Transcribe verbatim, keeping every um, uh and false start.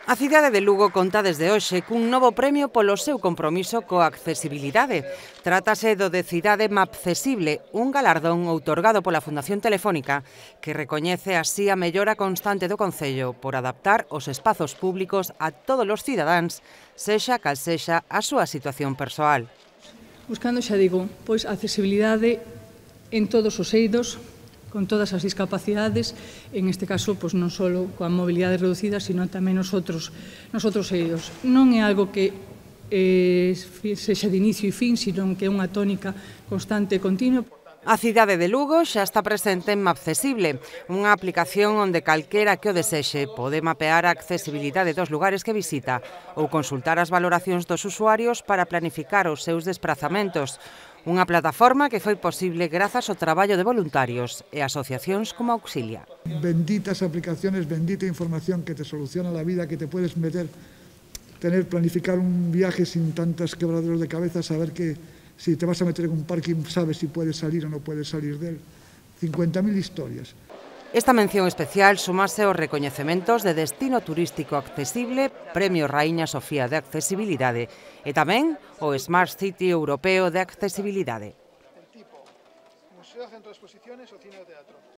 A cidade de Lugo conta desde hoxe cun novo premio polo seu compromiso coa accesibilidade. Trátase do de Cidade Mapcesible, un galardón outorgado pola Fundación Telefónica que recoñece así a mellora constante do concello por adaptar os espazos públicos a todos os cidadáns, sexa cal sexa a súa situación persoal. Buscando, xa digo, pois a accesibilidade en todos os eidos, con todas as discapacidades, en este caso, pois, non só coa mobilidade reducida, sino tamén nos outros, nos outros eidos. Non é algo que eh, sexa de inicio e fin, sino que é unha tónica constante e continua. A cidade de Lugo xa está presente en Mapcesible, unha aplicación onde calquera que o desexe pode mapear a accesibilidade dos lugares que visita ou consultar as valoracións dos usuarios para planificar os seus desprazamentos. Unha plataforma que foi posible grazas ao traballo de voluntarios e asociacións como Auxilia. Benditas aplicaciones, bendita información que te soluciona la vida, que te puedes meter, tener, planificar un viaje sin tantos quebraderos de cabeza, saber que si te vas a meter en un parking sabes si puedes salir o no puedes salir de él. cincuenta mil historias. Esta mención especial sumase aos recoñecementos de Destino Turístico Accesible, Premio Raíña Sofía de Accesibilidade e tamén o Smart City Europeo de Accesibilidade. Museo, centro de exposiciones o cine o teatro.